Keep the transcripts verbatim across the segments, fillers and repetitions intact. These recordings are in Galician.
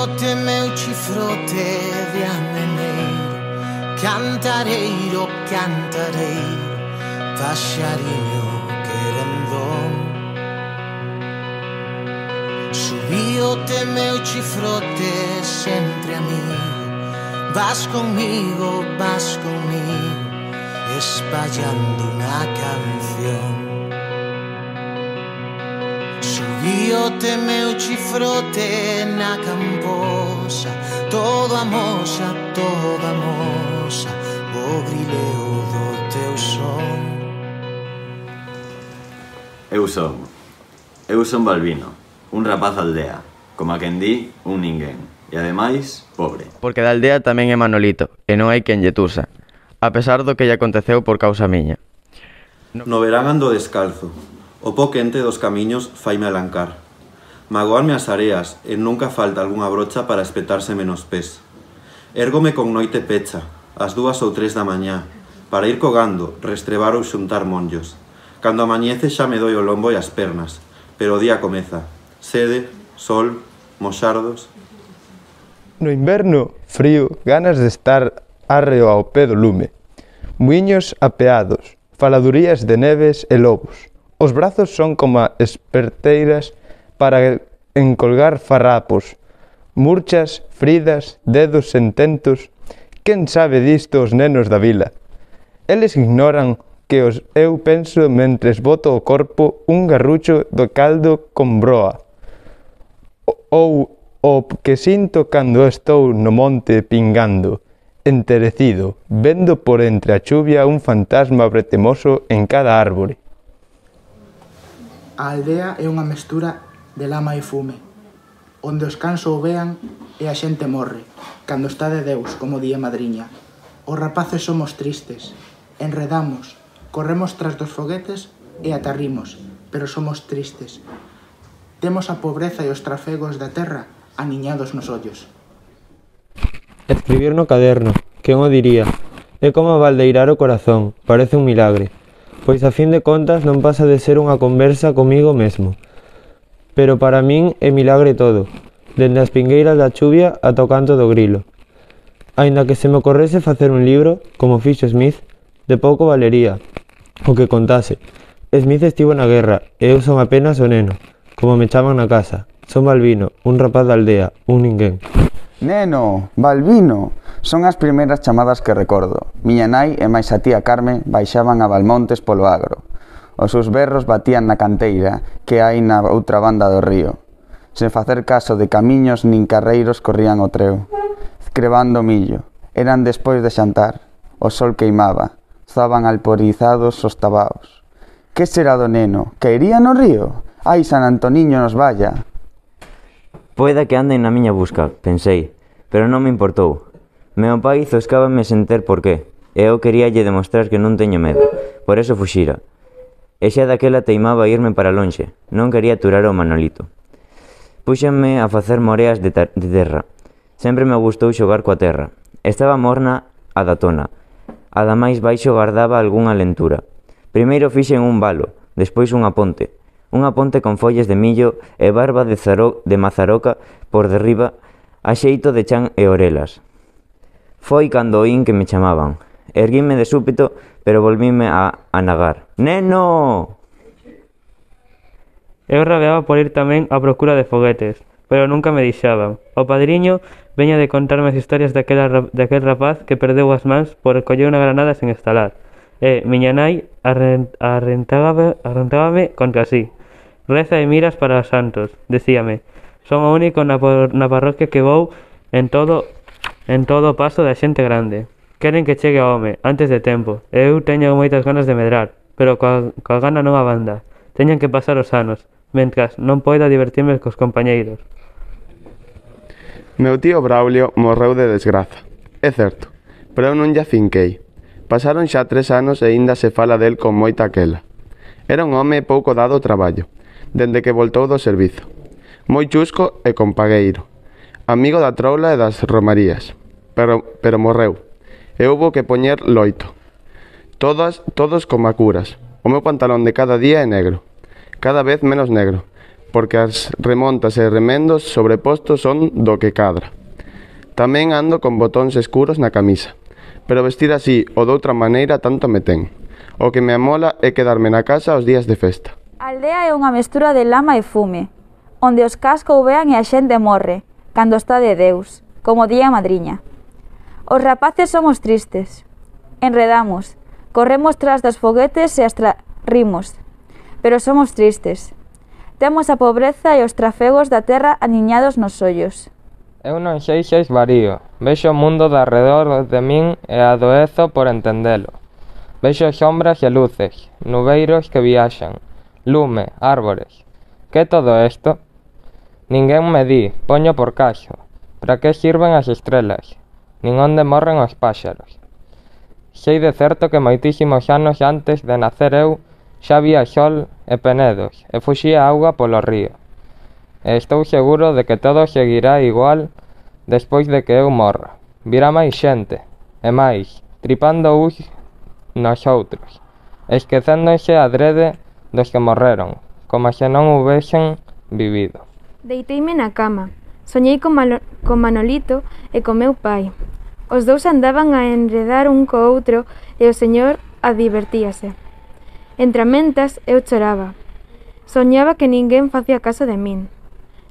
Subíote meu chifrote de ameneiro, cantareiro, cantareiro, paxariño querendón. Subíote meu chifrote sempre a mí, vas conmigo, vas conmigo, espallando unha canción. Subíote meu chifrote na camposa, todo amosa, todo amosa, o brileo do teu son. Eu son, eu son Balbino, un rapaz da aldea, como a quen di, un ninguén, e ademais, pobre. Porque da aldea tamén é Manolito, e non hai quen lle tusa, a pesar do que lle aconteceu por causa miña. No verán ando descalzo, o po quente dos camiños faime alancar. Magoarme as areas e nunca falta algunha brocha para espetárseme nos pés. Érgome con noite pecha, ás dúas ou tres da mañá, para ir cogando, restrebar ou xuntar monllos. Cando amañece xa me doi o lombo e as pernas, pero o día comeza. Sede, sol, moxardos. No inverno, frío, ganas de estar arreo ao pé do lume. Muiños apeados, faladurías de neves e lobos. Os brazos son como esperteiras para encolgar farrapos, murchas, fridas, dedos sententos. Quen sabe disto os nenos da vila? Eles ignoran que os eu penso mentres boto o corpo un garrucho do caldo con broa, ou o que sinto cando estou no monte pingando, enterecido, vendo por entre a chuvia un fantasma bretemoso en cada árbore. A aldea é unha mestura de lama e fume, onde os cans ouvean e a xente morre, cando está de Deus, como di a madriña. Os rapaces somos tristes, enredamos, corremos tras dos foguetes e atarrimos, pero somos tristes. Temos a pobreza e os trafegos da terra aniñados nos ollos. Escribir no caderno, quen o diría? É como baldeirar o corazón, parece un milagre. Pois a fin de contas non pasa de ser unha conversa comigo mesmo. Pero para min é milagre todo, dende as pingueiras da chuvia ata o canto do grilo. Aínda que se me ocorrese facer un libro, como fixo Smith, de pouco valería o que contase. Smith estivo na guerra e eu son apenas o neno, como me chaman na casa. Son Balbino, un rapaz da aldea, un ninguén. Neno, Balbino, son as primeiras chamadas que recordo. Miña nai e máis a tía Carmen baixaban a Balmontes polo agro. Os seus berros batían na canteira que hai na outra banda do río. Sen facer caso de camiños nin carreiros corrían o treo, crebando millo. Eran despois de xantar. O sol queimaba. Zaban alporizados os tabaos. Que será do neno? Que iría no río? Ai, San Antoniño nos vaya. Poida que anden na miña busca, pensei, pero non me importou. Meu pai zoscábame sen ter por qué, e eu queríalle demostrar que non teño medo, por eso fuxira. E xa daquela teimaba a irme para lonxe, non quería aturar o Manolito. Púxenme a facer moreas de, de terra. Sempre me gustou xogar coa terra. Estaba morna a da tona. A da máis baixo gardaba algunha lentura. Primeiro fixen un valo, despois unha ponte. Unha ponte con follas de millo e barba de, zaro, de mazaroca por derriba a xeito de chan e orelas. Foi cando oín que me chamaban. Erguíme de súpeto, pero volvíme a anagar. Neno! Eu rabeaba por ir tamén á procura de foguetes, pero nunca me deixaban. O padriño veña de contarme as historias daquela, daquel rapaz que perdeu as mans por coller unha granada sen estalar. E miña nai arrentábame contra sí. Reza e miras para os santos, decíame. Son o único na, na parroquia que vou en todo en todo o paso da xente grande. Queren que chegue ao home, antes de tempo. E eu teño moitas ganas de medrar, pero coa, coa gana non abanda. Teñen que pasar os anos, mentras non poida divertirme cos compañeiros. Meu tío Braulio morreu de desgraza. É certo, pero eu non lle afinquei. Pasaron xa tres anos e aínda se fala del con moita aquela. Era un home pouco dado ao traballo, dende que voltou do servizo. Moi chusco e compagueiro. Amigo da troula e das romarías. Pero, pero morreu. E houbo que poñer loito. Todas, todos como a curas. O meu pantalón de cada día é negro. Cada vez menos negro. porque as remontas e remendos sobrepostos son do que cadra. Tamén ando con botóns escuros na camisa, pero vestir así ou doutra maneira tanto me ten. O que me amola é quedarme na casa os días de festa. A aldea é unha mestura de lama e fume, onde os cas coubean e a xente morre, cando está de Deus, como día madriña. Os rapaces somos tristes, enredamos, corremos tras dos foguetes e hasta rimos, pero somos tristes. Temos a pobreza e os trafegos da terra aniñados nos ollos. Eu non sei se esvarío, vexo o mundo de arredor de min e adoezo por entendelo. Vexo sombras e luces, nubeiros que viaxan, lume, árbores. Que é todo isto? Ninguén me di, poño por caso. Para que sirven as estrelas? Nin onde morren os páxaros. Sei de certo que moitísimos anos antes de nacer eu xa había sol e penedos e fuxía auga polo río. E estou seguro de que todo seguirá igual despois de que eu morra. Virá máis xente, e máis, tripando uns nos outros, esquecéndose adrede dos que morreron, como se non houvesen vivido. Deiteime na cama, soñei con, Malo, con Manolito e con meu pai. Os dous andaban a enredar un co outro e o señor advertíase. Entre mentas eu choraba. Soñaba que ninguén facía caso de min.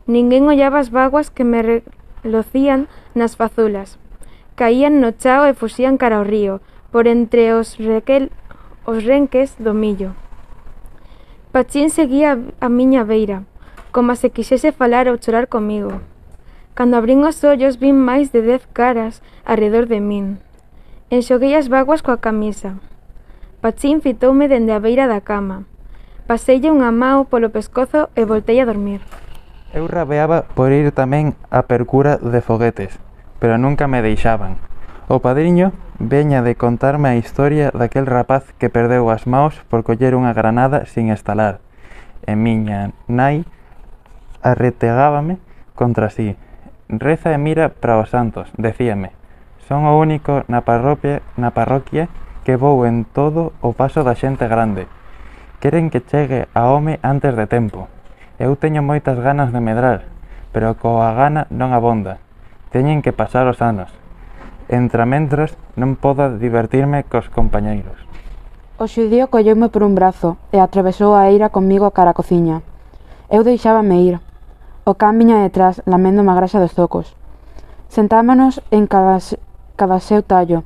Ninguén ollaba as vaguas que me relocían nas fazulas. Caían no chao e fuxían cara ao río, por entre os, requel, os renques do millo. Pachín seguía a miña beira, como se quixese falar ou chorar comigo. Cando abrín os ollos vin máis de dez caras arredor de min. Enxoguei as vaguas coa camisa. Pachín fitoume dende a beira da cama. Paseille unha mao polo pescozo e voltei a dormir. Eu rabeaba por ir tamén á percura de foguetes, pero nunca me deixaban. O padriño veña de contarme a historia daquel rapaz que perdeu as maos por coller unha granada sin estalar. E miña nai arretegábame contra sí. Reza e mira para os santos, decíame. Son o único na parroquia, na parroquia que vou en todo o paso da xente grande. Queren que chegue a home antes de tempo. Eu teño moitas ganas de medrar, pero coa gana non abonda. Teñen que pasar os anos. Entrementras non podo divertirme cos compañeiros. O xudío colleume por un brazo e atravesou a eira comigo cara a cociña. Eu deixábame ir. O can viña detrás, lamendo má graxa dos zocos. Sentámonos en cada, cada seu tallo.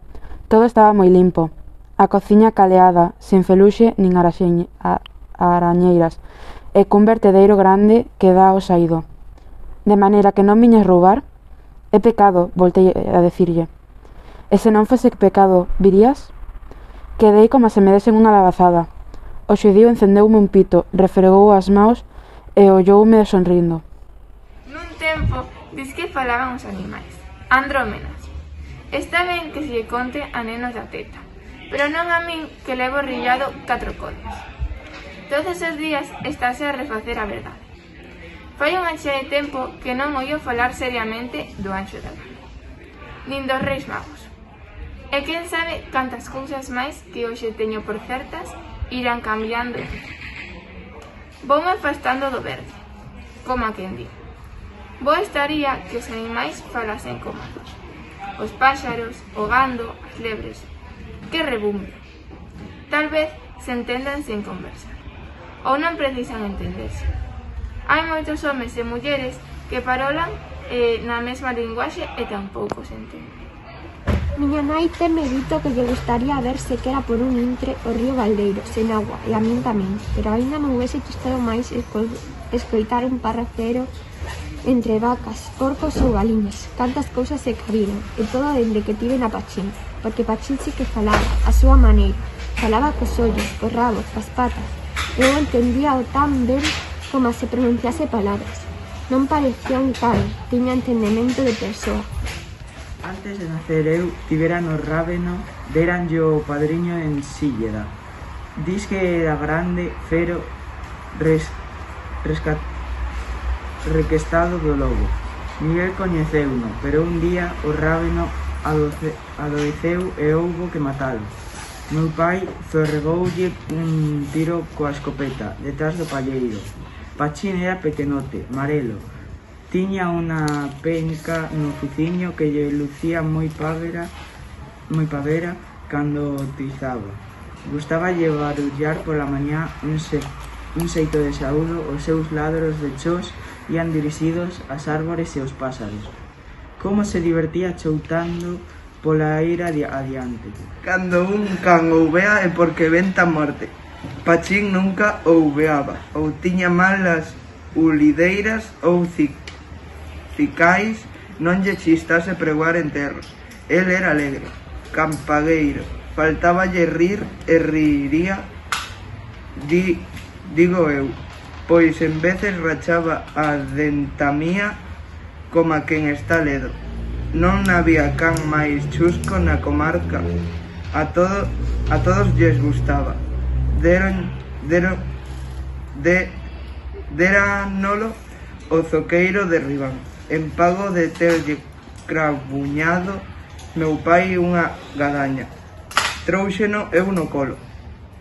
Todo estaba moi limpo. A cociña caleada, sen feluxe nin araxeñ, a, arañeiras, e cun vertedeiro grande que dá ao saído. De maneira que non viñas roubar? É pecado, voltei a decirlle. E se non fose pecado, virías? Quedei como se me desen unha labazada. O xudío encendeume un pito, refregou as maos e olloume sonrindo. Nun tempo, dis que falaban os animais. Andrómenas. Está ben que se lle conte a nenos da teta, pero non a min que levo rillado catro codios. Todos os días estáse a refacer a verdade. Fai unha xa de tempo que non oio falar seriamente do Anxo da Guarda, nin dos Reis Magos. E quen sabe cantas cousas máis que hoxe teño por certas irán cambiando. Voume afastando do verde, como a quen di. Bo estaría que os animais falasen como nós. Os páxaros, o gando, as lebres. Que rebumbe. Tal vez se entendan sen conversar. Ou non precisan entenderse. Hai moitos homes e mulleres que parolan eh, na mesma linguaxe e tampouco se entenden. Miña nai teme dito que lle gustaría ver se quera por un intre o río Galdeiro, sen agua, e a min tamén, pero aínda me houvese gustado máis esco escoitar un parrafero entre vacas, porcos ou galiñas. Cantas cousas se cabiron, e todo dende que tive na Pachín, porque Pachín sí que falaba, a súa maneira, falaba cos ollos, cos rabos, cas patas. Eu entendía o tan ben como se pronunciase palabras. Non parecía un can, tiña entendemento de persoa. Antes de nacer eu, tivera no Rábeno, deranlle o padriño en Sílleda. Dis que era grande, fero, res, rescat, requestado do lobo. Miguel coñeceuno, pero un día o Rábeno adoce, adoeceu e houbo que matalo. Meu pai zorregoulle un tiro coa escopeta, detrás do palleiro. Pachín era pequenote, marelo. Tiña unha penca no fuciño que lle lucía moi pavera, moi pavera cando tizaba. Gustaba lle barullar pola mañá un, se, un xeito de saúdo, os seus ladros de chos ian dirixidos ás árbores e aos pásaros. Como se divertía choutando pola eira adiante. Cando un can ouvea é porque venta morte. Pachín nunca ouveaba, ou tiña mal as ulideiras ou cicais, non lle chistase pregoar enterros. El era alegre, campagueiro, faltáballe rir e riría, di, digo eu, pois en veces rachaba a dentamía como a quen está ledo. Non había can máis chusco na comarca, a, todo, a todos lles gustaba. Deron, deron, de, deranolo o zoqueiro de Ribán. En pago de terlle crabuñado meu pai unha gadaña. Trouxeno eu no colo.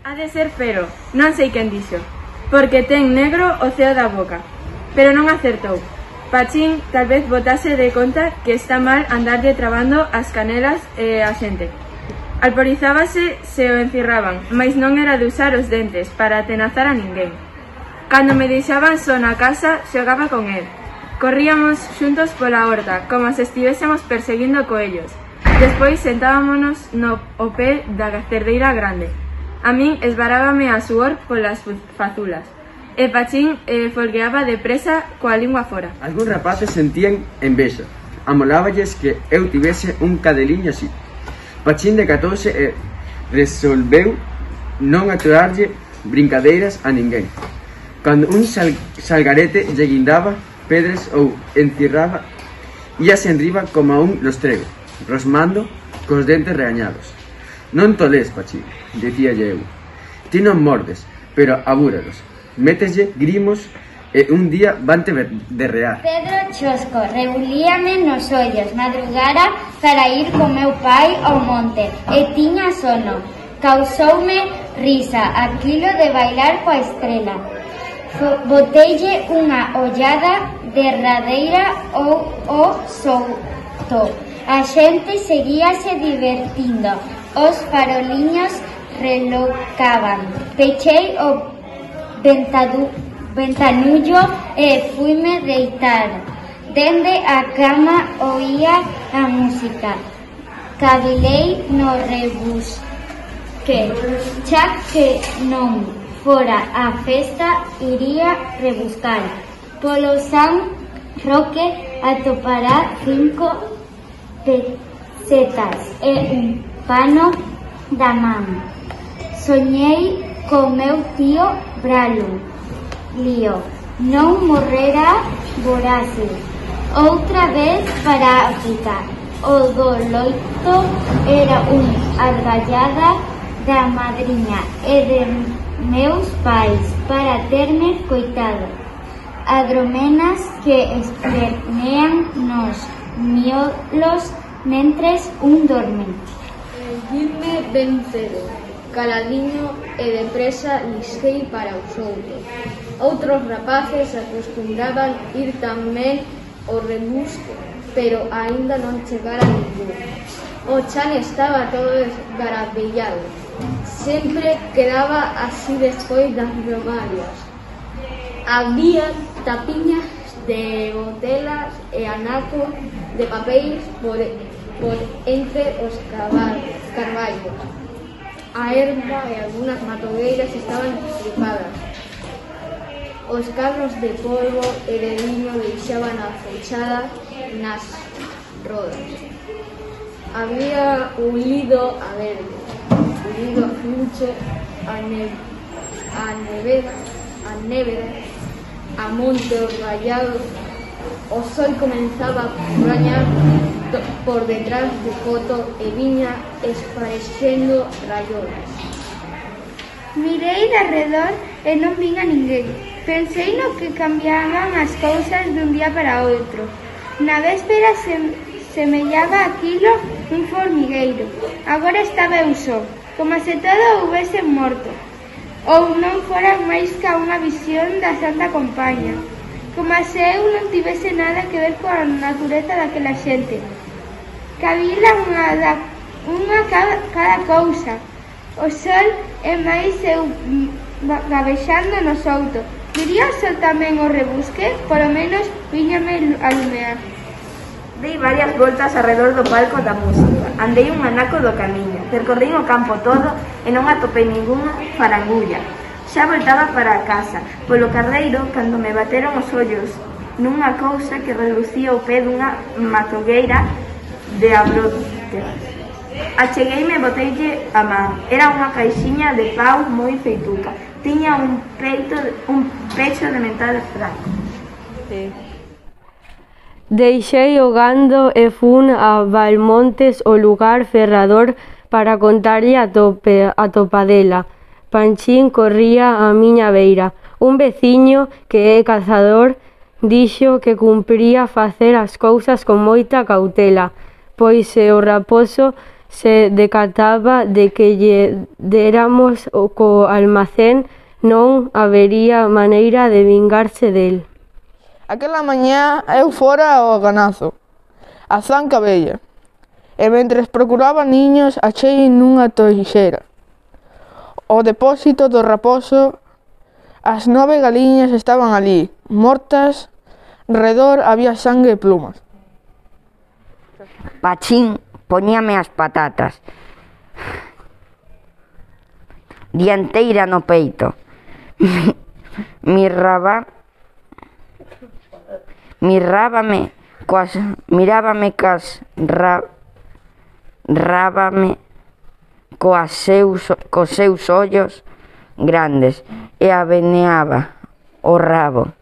Ha de ser Fero, non sei quen dixo, porque ten negro o ceo da boca, pero non acertou. Pachín tal vez botase de conta que está mal andarlle trabando as canelas e a xente. Alporizábase se o encirraban, mais non era de usar os dentes para atenazar a ninguén. Cando me deixaban só na casa, xogaba con el. Corríamos xuntos pola horta, como se estivésemos perseguindo coellos. Despois sentábamonos no o pé da cerdeira grande. A min esvarábame a suor polas fazulas, e Pachín eh, folgueaba depresa coa lingua fora. Algúns rapaces sentían envexa. Amoláballes que eu tivese un cadeliño así. Pachín decatouse e resolveu non aturarlle brincadeiras a ninguén. Cando un sal salgarete lle guindaba pedres ou encirraba, íase enriba como a un lostrego, rosmando cos dentes regañados. Non tolés, Pachín, dicíalle eu. Ti non mordes, pero abúralos. Méteslle grimos e un día vante derrear. Pedro Chosco rebulíame nos ollos, madrugara para ir co meu pai ao monte e tiña sono. Causoume risa aquilo de bailar coa estrela. Boteille unha ollada derradeira ao o souto. A xente seguíase divertindo, os faroliños relocaban. Pechei o ventadu ventanullo e fuime deitar. Dende a cama oía a música. Cavilei no rebusque. Xa que non fora a festa, iría rebuscar. Polo San Roque atopará cinco pesetas e un pano da man. Soñei co meu tío Bralo. Lío, non morrera vorase. Outra vez para África. O do loito era un argallada da madriña e de meus pais para terme coitado. Adromenas que espernean nos miolos mentres un dorme. Irme ben cedo, caladiño e depresa lixei para os outros. Outros rapaces acostumbraban ir tamén ao rebusque, pero aínda non chegara ningún. O chan estaba todo esgarabellado. Sempre quedaba así despois das romarias. Había tapiñas de botelas e anacos de papéis por, por entre os carballos. A erva e algunhas matogueiras estaban estripadas. Os carros de polvo e de viño deixaban a fechada nas rodas. Había un lido a verde, un lido a fruche, a, ne a neveda, a neveda, a monte os rallados. O sol comenzaba a rañar por detrás do coto e viña esparecendo rayolas. Mirei de arredor e non vin a ninguén. Pensei no que cambiaban as cousas dun día para outro. Na véspera se, semellaba aquilo un formigueiro. Agora estaba eu só, como se todo houvese morto. ou non fora máis ca unha visión da Santa Compaña, como se eu non tivese nada que ver coa natureza daquela xente. Cabila unha, da, unha cada, cada cousa, o sol e máis eu gabexando no souto. Viría o sol tamén o rebusque, polo menos viñame a lumear. Dei varias voltas arredor do palco da música, andei un anaco do camiño, percorrín o campo todo e non atopei ningunha farangulla. Xa voltaba para a casa, polo carreiro, cando me bateron os ollos nunha cousa que relucía o pé dunha matogueira de abrote. Achegueime e boteille a man. Era unha caixiña de pau moi feituca. Tiña un peito, un pecho de metal franco. Sí. Deixei o gando e fun a Valmontes, o lugar ferrador, para contarlle a, tope, a topadela. Panchín corría á miña beira. Un veciño que é cazador dixo que cumpría facer as cousas con moita cautela, pois se o raposo se decataba de que lle deramos o co almacén, non habería maneira de vingarse del. Aquela mañá eu fora ao ganazo, a zanca bella, e mentres procuraba niños achei nunha toixeira o depósito do raposo. As nove galiñas estaban ali, mortas, redor había sangue e plumas. Pachín poñíame as patatas dianteira no peito. Mirraba Mirrábame coas mirábame cas ra, rábame coas seus cos seus ollos grandes e aveneaba o rabo.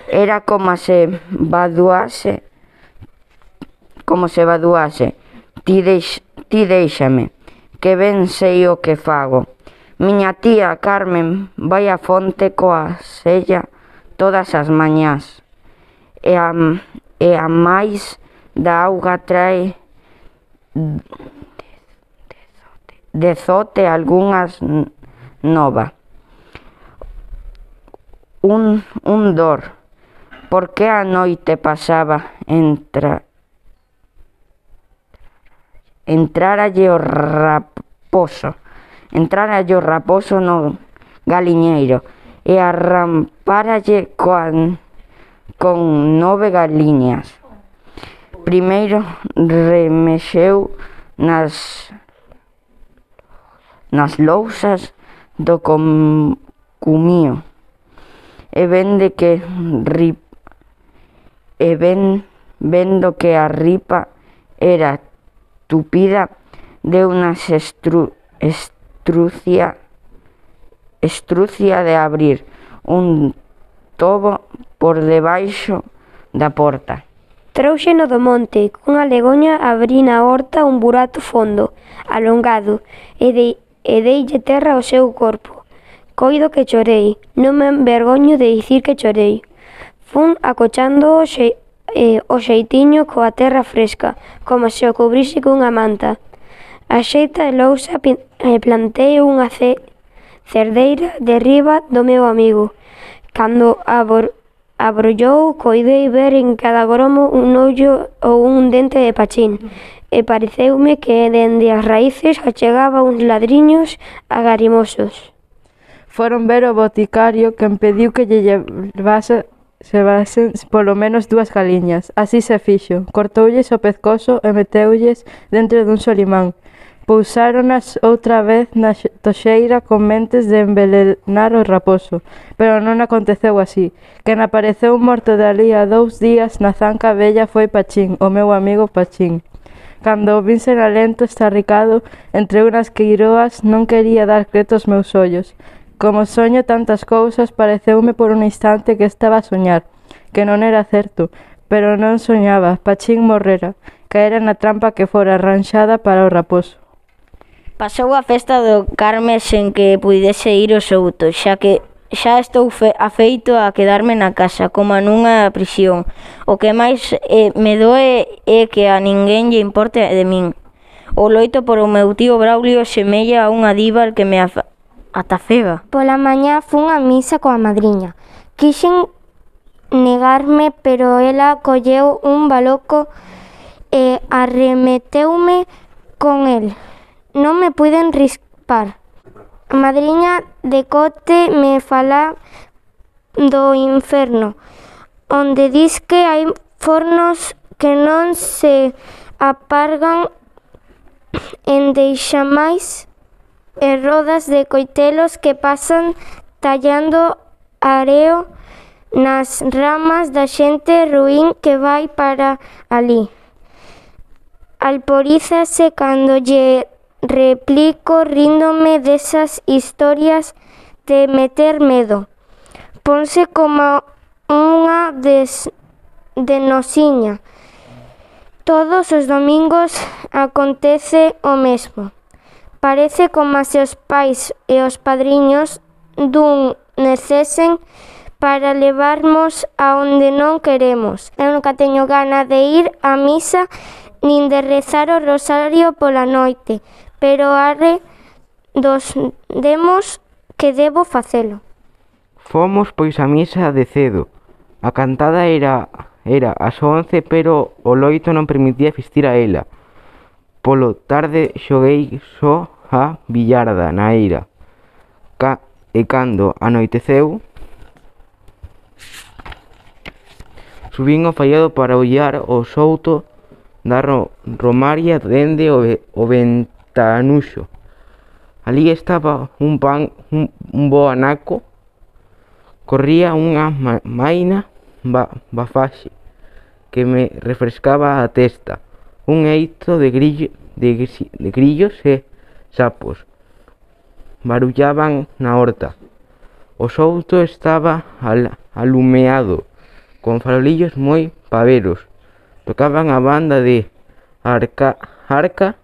Era como se vaduase como se vaduase. Ti, deix, ti deixame, que ben sei o que fago. Miña tía Carmen vai á fonte coa sella todas as mañás. E a, e a máis da auga trae dezote algunhas nova. Un, un dor, porque a noite pasaba entra, entraralle o raposo, entraralle o raposo no galiñeiro e arramparalle coa con nove galiñas. Primeiro remexeu nas nas lousas do com, cumío e vende que rip, e ven, vendo que a ripa era tupida de unha estru, estrucia estrucia de abrir un tobo por debaixo da porta. Trouxeno do monte, cunha legoña abrí na horta un burato fondo, alongado, e, de, e deille terra ao seu corpo. Coido que chorei, non me envergoño de dicir que chorei. Fun acochando o, xe, eh, o xeitiño coa terra fresca, como se o cubrise cunha manta. A xeita e lousa e plantei unha ce, cerdeira de riba do meu amigo. Cando abor, abrollou, coidei ver en cada gromo un ollo ou un dente de Pachín, e pareceume que dende as raíces achegaba uns ladriños agarimosos. Foron ver o boticario, que impediu que lle levase se vasen polo menos dúas galiñas. Así se fixo, cortoulles o pescozo e meteulles dentro dun solimán. Pousáronas outra vez na toxeira con mentes de envelenar o raposo, pero non aconteceu así. Quen apareceu morto de alí a dous días na zanca vella foi Pachín, o meu amigo Pachín. Cando o vin ser alento estarricado entre unhas queiroas, non quería dar creto aos meus ollos. Como soño tantas cousas, pareceume por un instante que estaba a soñar, que non era certo, pero non soñaba. Pachín morrera, caera na trampa que fora arranxada para o raposo. Pasou a festa do Carme sen que puidese ir ao souto, xa que xa estou fe, afeito a quedarme na casa, como nunha prisión. O que máis eh, me doe é que a ninguén lle importe de min. O loito por o meu tío Braulio semella a unha diva que me ata cega. Pola mañá fun á misa coa madriña. Quixen negarme, pero ela colleu un baloco e arremeteume con el. Non me puiden rispar. A madriña de cote me fala do inferno, onde dis que hai fornos que non se apargan en deixamais e rodas de coitelos que pasan tallando areo nas ramas da xente ruín que vai para ali. Alporízase cando lle replico ríndome desas historias de meter medo. Ponse como unha des, de nosiña. Todos os domingos acontece o mesmo. Parece como se os pais e os padriños dun necesen para levarmos a onde non queremos. Eu nunca teño gana de ir á misa nin de rezar o rosario pola noite, pero arre dos demos que debo facelo. Fomos pois á misa de cedo. A cantada era era ás once, pero o loito non permitía asistir a ela. Polo tarde xoguei só a billarda na eira. Ca e cando anoiteceu, subín ao faiado para ollar o souto da ro romaria dende o, o ventanuxo. Ali estaba un pan, un, un bo anaco. Corría unha ma maina ba bafaxe que me refrescaba a testa. Un eito de, grillo, de, de grillos e sapos barullaban na horta. O souto estaba al, alumeado, con farolillos moi paveros. Tocaban a banda de Arca, Arca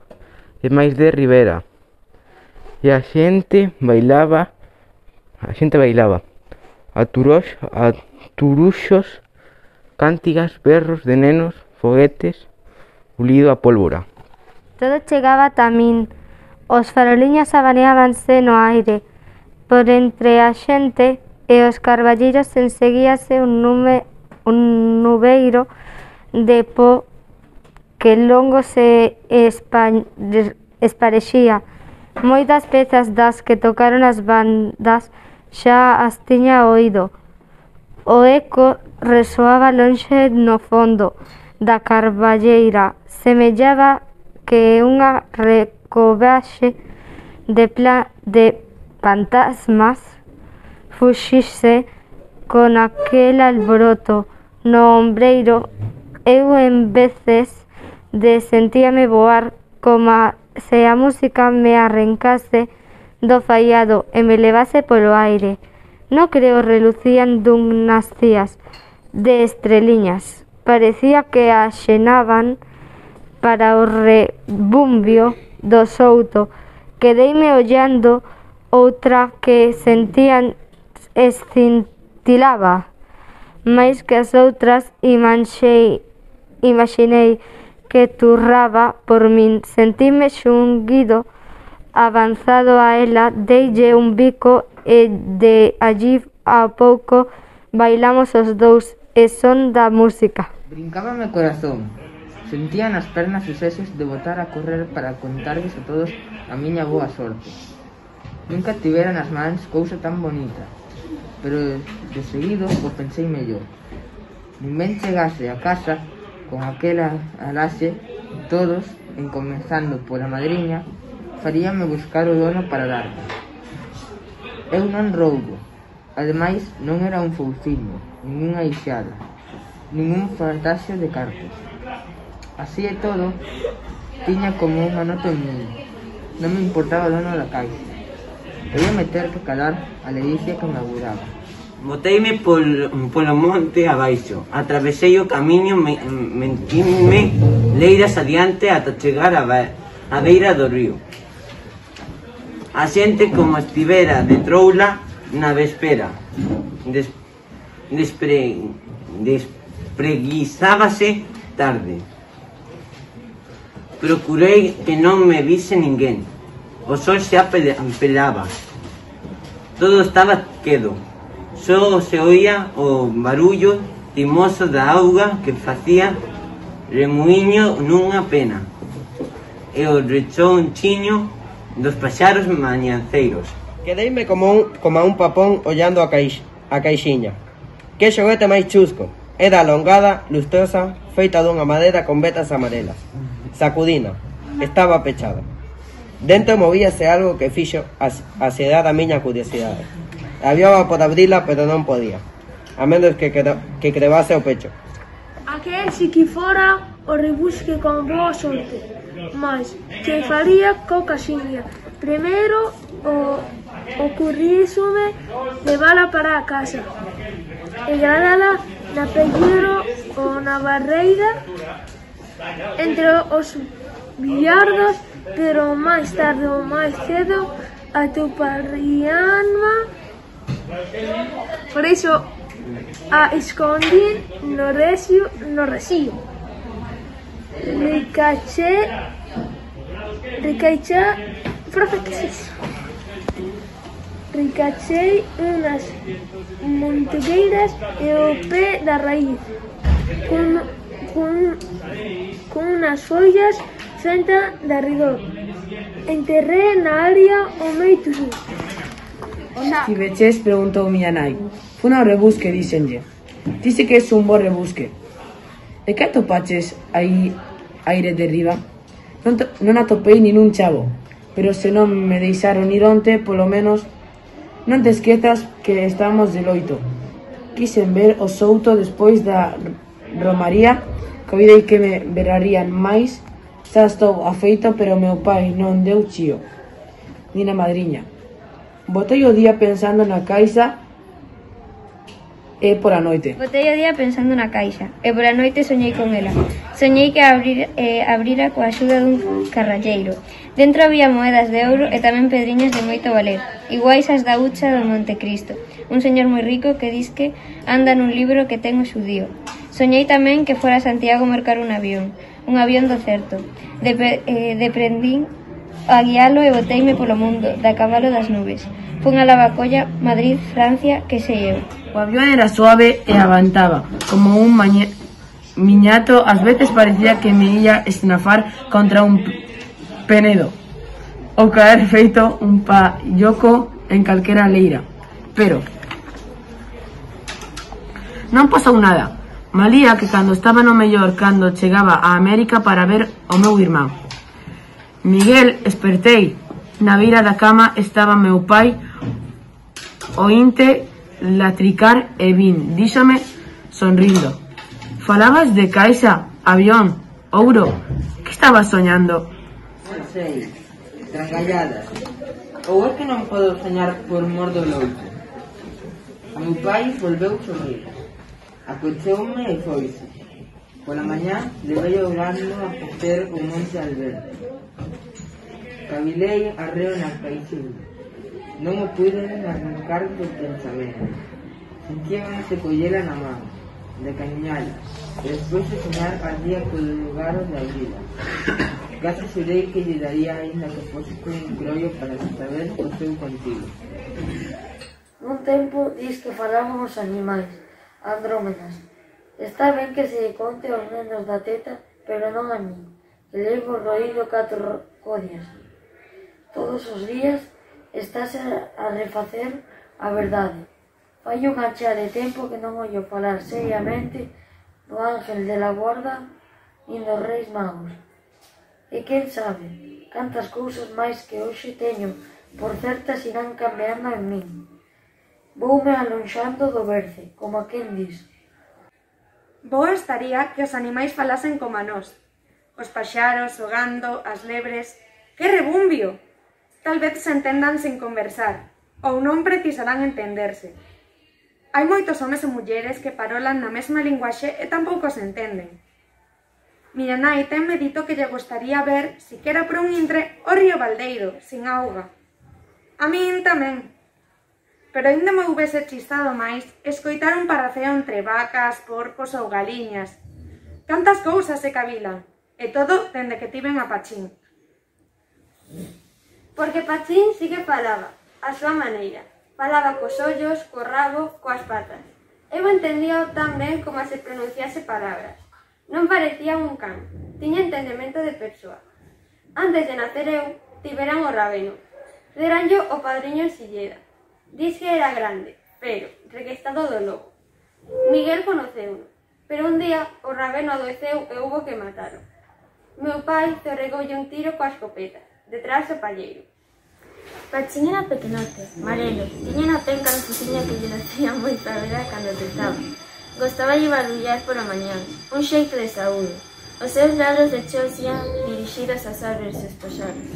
e máis de Rivera. E a xente bailaba, a xente bailaba. A, turox, a turuxos, cántigas, berros de nenos, foguetes, ulido a pólvora. Todo chegaba ata min. Os faroliños abaneábanse no aire. Por entre a xente e os carballeiros enseguíase un, nume, un nubeiro de po que longo se esparexía. Moitas pezas das que tocaron as bandas xa as tiña oído. O eco resoaba lonxe no fondo da carballeira. Semellaba que unha recovaxe de, pla de fantasmas fuxise con aquel alboroto no ombreiro. Eu en veces de sentíame voar como se a música me arrancase do faiado e me levase polo aire. No creo relucían dunhas cías de estreliñas. Parecía que axenaban para o rebumbio do souto. Quedeime ollando outra que sentían escintilaba máis que as outras e manxei, imaginei que turraba por min. Sentime xunguido avanzado a ela, deille un bico e de allí a pouco bailamos os dous e son da música. Brincábame o corazón. Sentía nas pernas os sesos de botar a correr para contarles a todos a miña boa sorte. Nunca tivera nas mans cousa tan bonita, pero de seguido o pensei mellor. Nin ben chegase a casa con aquela alaxe, todos, encomenzando pola madriña, faríame buscar o dono para darme. Eu non roubo. Ademais, non era un fouciño, nin unha ixada, nin un fartaxo de cartos. Así e todo, tiña como unha nota en mí. Non me importaba o dono da caixa. Debía meter que calar a ledicia que me agudaba. Boteime pol, polo monte abaixo, atravesei o camiño, me, mentime leiras adiante ata chegar a, a beira do río. A xente como estivera de troula na vespera, des, despre, despreguizábase tarde. Procurei que non me vise ninguén. O sol xa pelaba. Todo estaba quedo. Só se oía o barullo timoso da auga que facía remuiño nunha pena e o rechonchiño dos paxaros mañanceiros. Quedeime como un, como un papón ollando a, caix, a caixiña. Que xoguete máis chusco. Era alongada, lustrosa, feita dunha madeira con vetas amarelas. Sacudina. Estaba pechada. Dentro movíase algo que fixo asedar a miña curiosidade. Aviaba por abrila, pero non podía. A menos que, que, que crevase o pecho. Aquel si que fora o rebusque con boa sorte, mas que faría co casiña. Primeiro o ocurrísome levala para a casa e guardala na pelleiro ou na barreira entre os billardos, pero máis tarde ou máis cedo atoparíanma. Por iso a escondín no recio, no recio. Ricaché, ricaché, profe, que é iso? Ricachei unas montegueiras e o pé da raíz, con, con, con unas follas fenta de arredor. Enterré na área o meito sur. Si veches, preguntou miña nai. Fun ao rebusque, díxenlle. Dice que é un bo rebusque. E que atopaches aí aire de riba? Non, non atopei nin un chavo, pero se non me deixaron ir onte, polo menos non te esquezas que estamos de loito. Quixen ver o souto despois da romaría, coidei que me verarían máis. Xa estou afeito, pero meu pai non deu chío, nin a madriña. Botei o día pensando na caixa e por a noite. Botei o día pensando na caixa e por a noite soñei con ela. Soñei que abrir, eh, abrira coa axuda dun carralleiro. Dentro había moedas de ouro e tamén pedriñas de moito valer, iguais as da hucha do Montecristo. Un señor moi rico que dis que anda nun libro que ten o xudío. Soñei tamén que fora a Santiago mercar un avión, un avión do certo. De, eh, deprendín a guialo e boteime polo mundo, da cabalo das nubes. Fun a Lavacolla, Madrid, Francia, que sei eu. O avión era suave e avantaba, como un mañe... miñato. Ás veces parecía que me ia esnafar contra un penedo ou caer feito un palloco en calquera leira. Pero non pasou nada. Malía que cando estaba no mellor, cando chegaba a América para ver o meu irmán Miguel, espertei. Na beira da cama estaba meu pai, oínte latricar e vin, díxome sonrindo: falabas de caixa, avión, ouro, que estabas soñando? Non sei, trangalladas. Ou é que non podo soñar por mor do loito? Meu pai volveu sorrir, acocheume e foise. Pola mañá levei o grano a cocer o Monte Alberto. Cavilei arreo na caixinha. Non o pude arrancar do pensamento. Sentía ganas de collela na mão, de cañala, e despois de soñar ardía polo lugar de abrila. Casi xurei que lle daría ainda que fose con un crollo para saber o seu contigo. Nun tempo dis que falaban os animais, Andrómenas. Está ben que se conte aos nenos da teta, pero non a min, que levo roído catro codias. Todos os días estás a refacer a verdade. Fai unha chea de tempo que non ollo falar seriamente do ángel de la guarda nin dos reis magos. E quen sabe, cantas cousas máis que hoxe teño por certas irán cambiando en min. Voume alonxando do berce, como a quen dis. Boa estaría que os animais falasen como a nós. Os paxaros, o gando, as lebres... Que rebumbio! Tal vez se entendan sen conversar, ou non precisarán entenderse. Hai moitos homes e mulleres que parolan na mesma linguaxe e tampouco se entenden. Miña nai tenme dito que lle gustaría ver, siquera por un intre, o río Baldeiro, sin auga. A min tamén. Pero ainda me houvese chistado máis escoitar un parrafeo entre vacas, porcos ou galiñas. Cantas cousas se cavilan, e todo dende que tiven a Pachín. Porque Pachín sí que falaba, a súa maneira. Falaba cos ollos, co rabo, coas patas. Eu entendía tan ben como se pronunciase palabras. Non parecía un can, tiña entendemento de persoa. Antes de nacer eu, tiveran o rabeno. Deranllo o padriño en Silleda. Dis que era grande, pero requestado do lobo. Miguel conoceu-no, pero un día o rabeno adoeceu e hubo que matalo. Meu pai zorregoulle un tiro coa escopeta, detrás do palleiro. Pachín era pequenote, marelo, tiña na penca na cociña que lle nacía moita vera cando tentaba. Gostaba de barullar pola mañán, un xeito de saúdo. Os seus ladros de cheo ían dirixidos ás árbores e paxaros.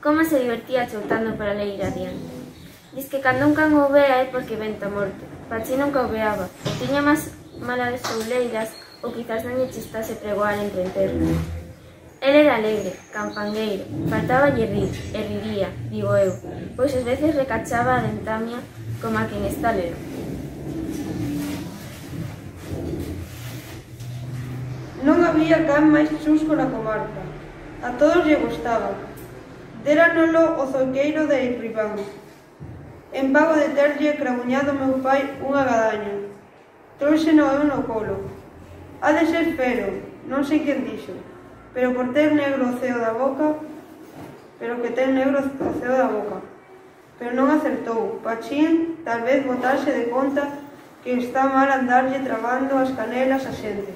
Como se divertía choutando pola leira adiante. Diz que cando un can o vea é porque venta morto. Pachín nunca o veaba, ou tiña máis malas souleiras, ou quizás non lle chistase pregoar entre enterros. El era alegre, campangueiro, faltáballe rir, e riría, digo eu, pois ás veces recachaba a dentamia como a quen está lero. Non había can máis chusco na comarca. A todos lle gustaba. Déranolo o zoqueiro de Ribán. En pago de terlle cramuñado meu pai unha gadaña. Trouxeno eu no colo. Ha de ser fero, non sei quen dixo. Pero por ter negro o ceo da boca, pero que ten negro o ceo da boca. Pero non acertou. Pachín tal vez botase de conta que está mal andarlle trabando as canelas a xente.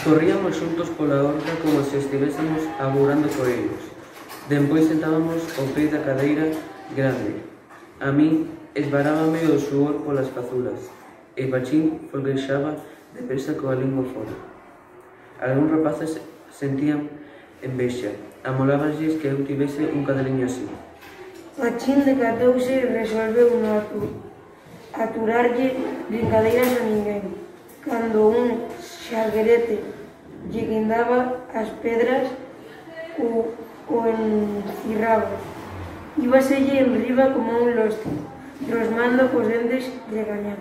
Corríamos xuntos pola horta como se estivésemos agourando coellos. Dempois sentábamos ao pé da cadeira grande. A min esvarábame o suor polas cazulas e Pachín folguexaba depresa coa lingua fora. Algúns rapaces sentían envexa, amolábanlles que eu tivese un cadeliño así. Pachín decatouse e resolveu non aturarlle brincadeiras a ninguén. Cando un xalguerete lle guindaba as pedras, o, o encirraba. Íbaselle enriba como un lostro, rosmando cos dentes de gañar.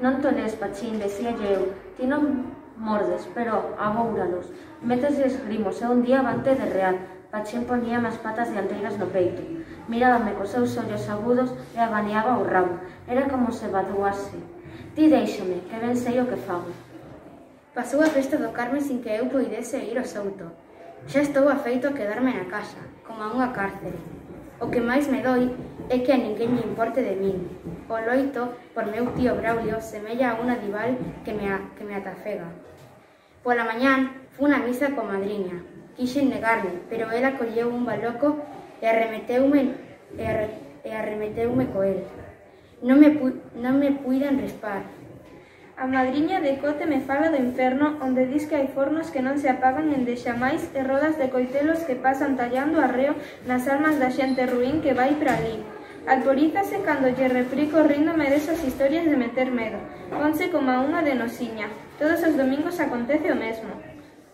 Non toles, Pachín, decíalle eu, ti non mordes, pero agóuralos. Métesles grimos e un día vante de real. Pachín ponía as patas dianteiras no peito. Mirábame cos seus ollos agudos e abaneaba o rabo. Era como se vaduase. Ti déixame, que ben sei o que fago. Pasou a festa do Carme sin que eu poidese ir ao souto. Xa estou afeito a quedarme na casa, como a unha cárcere. O que máis me doi é que a ninguén lle importe de min. O loito, por meu tío Braulio, semella a unha dival que me, a, que me atafega. Pola mañán, fun a misa coa madriña. Quixen negarme, pero ela colleu un baloco e arremeteume, e arre, e arremeteume co el. Non me, pu, non me puiden respar. A madriña de Cote me fala do inferno, onde dis que hai fornos que non se apagan endexamais e rodas de coitelos que pasan tallando arreo nas almas da xente ruín que vai para ali. Alporízase cando lle replico ríndome desas historias de meter medo. Ponse como a unha de nosiña. Todos os domingos acontece o mesmo.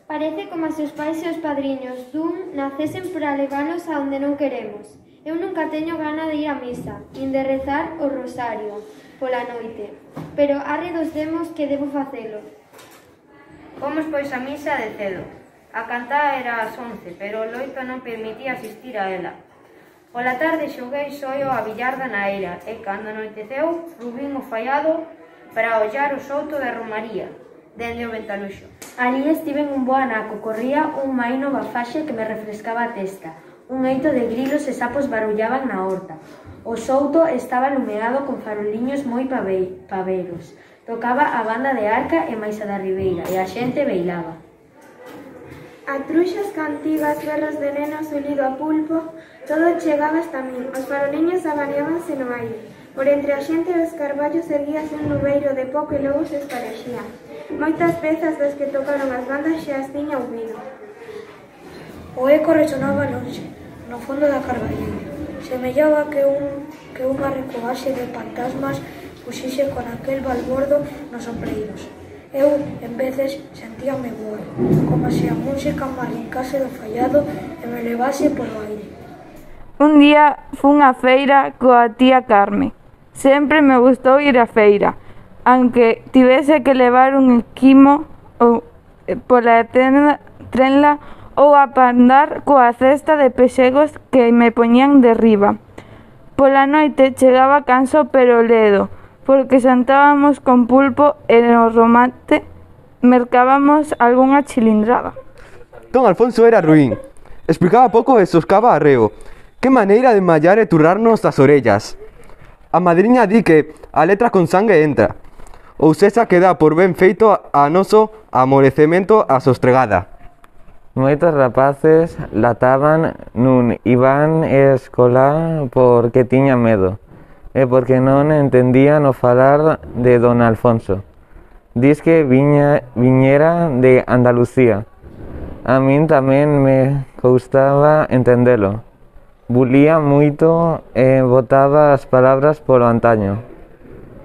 Parece como se os pais e os padriños dun nacesen para levalos a onde non queremos. Eu nunca teño gana de ir a misa, nin de rezar o rosario pola noite, pero arre dos demos que debo facelo. Fomos pois a misa de cedo. A cantada era ás once, pero o loito non permitía asistir a ela. Pola tarde xoguei soio a billarda na eira e cando anoiteceu rubín o faiado para ollar o souto da Romaría, dende o ventanuxo. Ali estiven un bo anaco, corría un maino bafaxe que me refrescaba a testa. Un eito de grilos e sapos barullaban na horta. O souto estaba lumeado con faroliños moi paveiros. Tocaba a banda de arca e máis a da ribeira, e a xente beilaba. A truxas, cantigas, berros de nenos, olido a pulpo, todo chegaba hasta min. Os faroliños abaneábanse no aire. Por entre a xente dos carballos erguíase un nubeiro de pó que logo se esparexía. Moitas pezas das que tocaron as bandas xa as tiña ouvido. O eco resonaba lonxe, no fondo da carballeira. Semellaba que un que unha recoaxe de fantasmas fuxixe con aquel balbordo nos ombreiros. Eu, en veces, sentíame voar, como se a música me arrancase do fallado e me levase polo aire. Un día fun á feira coa tía Carme. Sempre me gustou ir á feira, aunque tivese que levar un esquimo ou pola trenla ou a pandar coa cesta de pexegos que me poñían derriba. Pola noite chegaba canso pero ledo, porque xantábamos con pulpo e no remate mercábamos algunha chilindrada. Don Alfonso era ruín. Explicaba pouco e soscaba arreo. Que maneira de mallar e turrarnos as orellas. A madriña di que a letra con sangue entra, ou sexa que dá por ben feito a noso amorecemento a sostregada. Moitos rapaces lataban nun Iván escolar porque tiña medo e porque non entendían o falar de don Alfonso. Dis que viña, viñera de Andalucía. A min tamén me custaba entendelo. Bulía moito e botaba as palabras polo antaño.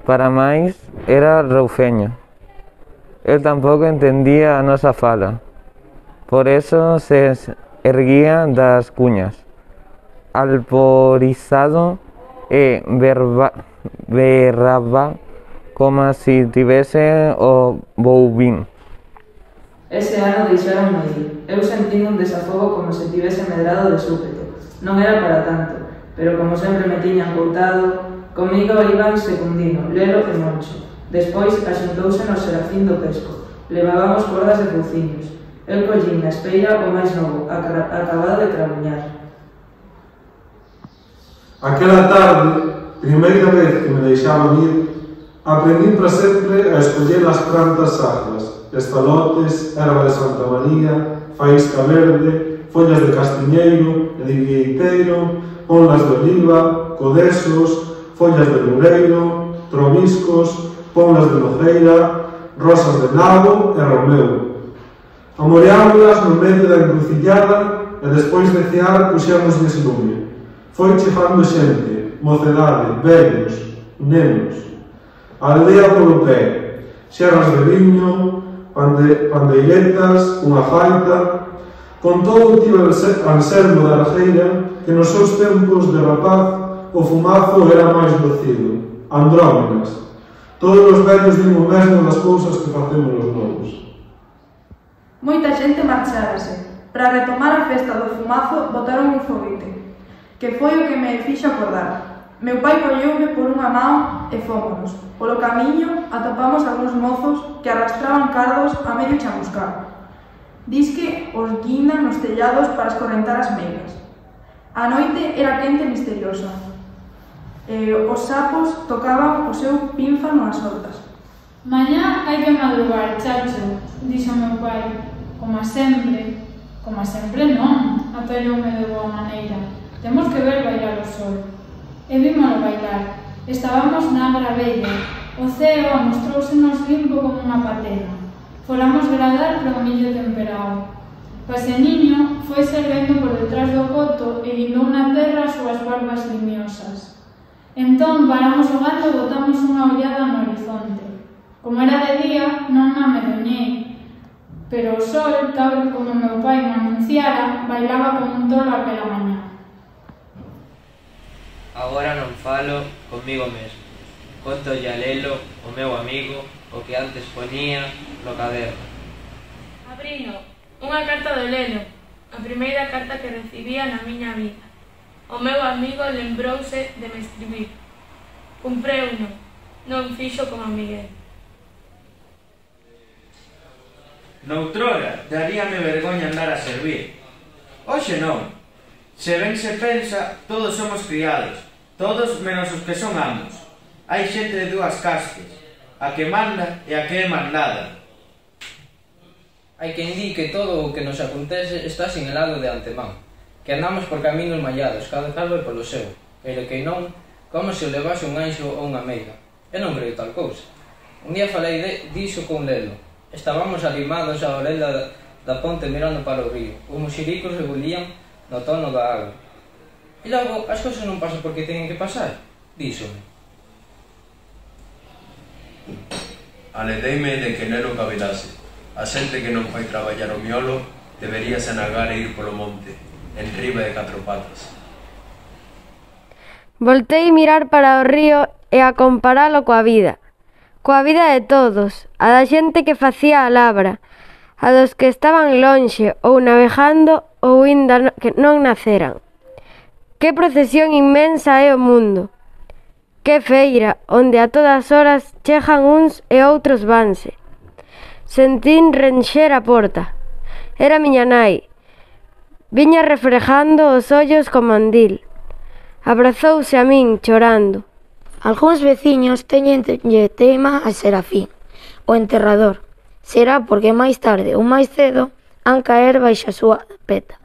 Para máis, era roufeño. El tampouco entendía a nosa fala. Por eso se erguía das cuñas, alporizado e berba, berraba como si tivese o boubín. Ese ano deixaronme ir. Eu sentín un desafogo como se tivese medrado de súpeto. Non era para tanto, pero como sempre me tiñan coutado, comigo Iván Secundino, Lelo e Moncho. Despois axuntouse no Serafín do Pesco. Levábamos cordas de couciños. Eu collín na espeira o máis novo, acabado de trabuñar. Aquela tarde, primeira vez que me deixaban ir, aprendín para sempre a escoller as plantas sacras, estalotes, erva de Santa María, faísca verde, follas de castiñeiro e de vieiteiro, ponlas de oliva, codesos, follas de loureiro, tromiscos, ponlas de nojeira, rosas de nabo e romeu. Amoreámolas no medio da encrucillada e despois de cear puxémoslles lume. Foi chegando xente, mocedade, vellos, nenos. A aldea polo pé, xerras de viño, pande, pandeiretas, unha gaita. Con todo tivo Anselmo da Argeira que nos seus tempos de rapaz o fumazo era máis docido. Andrómenas. Todos os vellos din o mesmo das cousas que facemos os novos. Moita xente marchárase. Para retomar a festa do fumazo botaron un foguete, que foi o que me fixo acordar. Meu pai colleume por unha man e fómonos. Polo camiño atopamos algúns mozos que arrastraban cardos a medio chamuscar. Disque os guindan nos tellados para escorrentar as meigas. A noite era quente e misteriosa. E os sapos tocaban o seu pínfano nas hortas. Mañá hai que madrugar, chacho, dixo meu pai. Como sempre, como sempre non, apeloume de boa maneira. Temos que ver bailar o sol. E vímolo bailar. Estábamos na Agra Bella. O ceo amostrousenos limpo como unha patena. Foramos gradar para o millo temperado. Paseniño foi servendo por detrás do coto e guindou na terra as súas barbas limiosas. Entón paramos o gato e botamos unha ollada no horizonte. Como era de día, non me amedoñei, pero o sol, tal como meu pai me anunciara, bailaba como un tolo aquela mañá. Agora non falo comigo mesmo. Conto a Lelo, o meu amigo, o que antes ponía no caderno. Abrino, unha carta do Lelo, a primeira carta que recibía na miña vida. O meu amigo lembrouse de me escribir. Cumpreuno, non fixo como Miguel. Noutrora, daríame vergoña andar a servir. Hoxe non. Se ben se pensa, todos somos criados, todos menos os que son amos. Hai xente de dúas castes, a que manda e a que é mandada. Hai quen di que todo o que nos acontece está sinalado de antemán, que andamos por caminos mallados, cada cal vai polo seu, pero que non, como se o levase un anxo ou unha meiga. Eu non creo tal cousa. Un día falei de, diso con Lelo. Estábamos alimados á orella da, da ponte mirando para o río. Os moxiricos rebulían no tono da agua. E logo, as cousas non pasan porque teñen que pasar, díxome. Aledeime de que neno cabelase. A xente que non vai traballar o miolo debería se nagar e ir polo monte, en riba de catro patas. Voltei mirar para o río e a comparalo coa vida. Coa vida de todos, a da xente que facía a labra, a dos que estaban lonxe ou navegando ou inda que non naceran. Que procesión inmensa é o mundo! Que feira, onde a todas horas chegan uns e outros vanse. Sentín renxer a porta. Era miña nai. Viña refrejando os ollos co mandil. Abrazouse a min, chorando. Algúns veciños teñenlle tema a Serafín, o enterrador. Será porque máis tarde ou máis cedo han caer baixa a súa peta.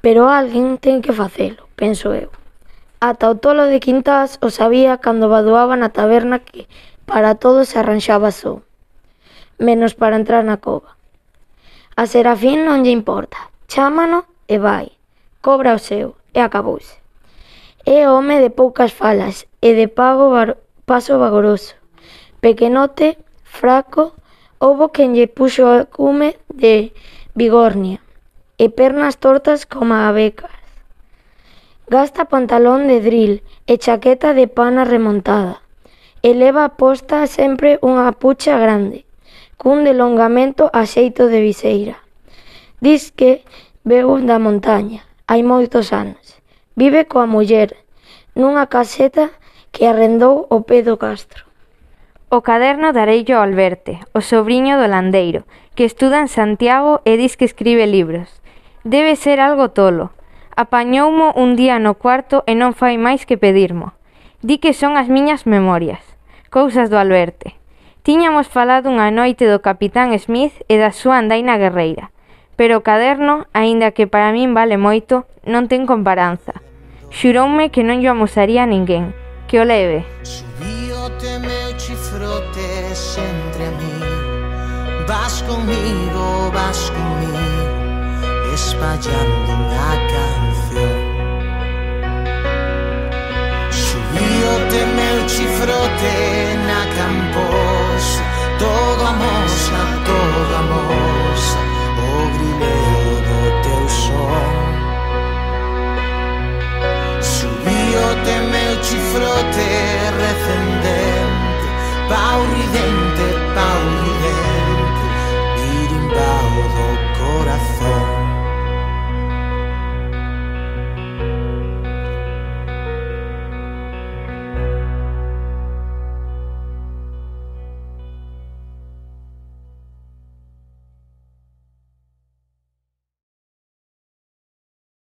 Pero alguén ten que facelo, penso eu. Ata o tolo de Quintás o sabía cando vadoaba na taberna que para todo se arranxaba só, menos para entrar na cova. A Serafín non lle importa, chámano e vai, cobra o seu e acabouse. É home de poucas falas e de pago bar, paso vagoroso. Pequenote, fraco, houbo quen lle puxo o cume de bigornia e pernas tortas como abecas. Gasta pantalón de dril e chaqueta de pana remontada e leva posta sempre unha pucha grande, cun delongamento a xeito de viseira. Dis que veu da montaña, hai moitos anos. Vive coa muller, nunha caseta que arrendou ao pé do castro. O caderno dareillo ao Alberte, o sobriño do landeiro, que estuda en Santiago e dis que escribe libros. Debe ser algo tolo. Apañoumo un día no cuarto e non fai máis que pedirmo. Di que son as miñas memorias, cousas do Alberte. Tiñamos falado unha noite do Capitán Smith e da súa andaina guerreira, pero o caderno, aínda que para min vale moito, non ten comparanza. Xuroume que non lle amosaría a ninguén, que o leve. Subíote meu chifrotes entre a mí, vas comigo, vas comigo, espallando unha canción. Subíote meu chifrote na camposa, todo a mosa, todo a mosa, o grilo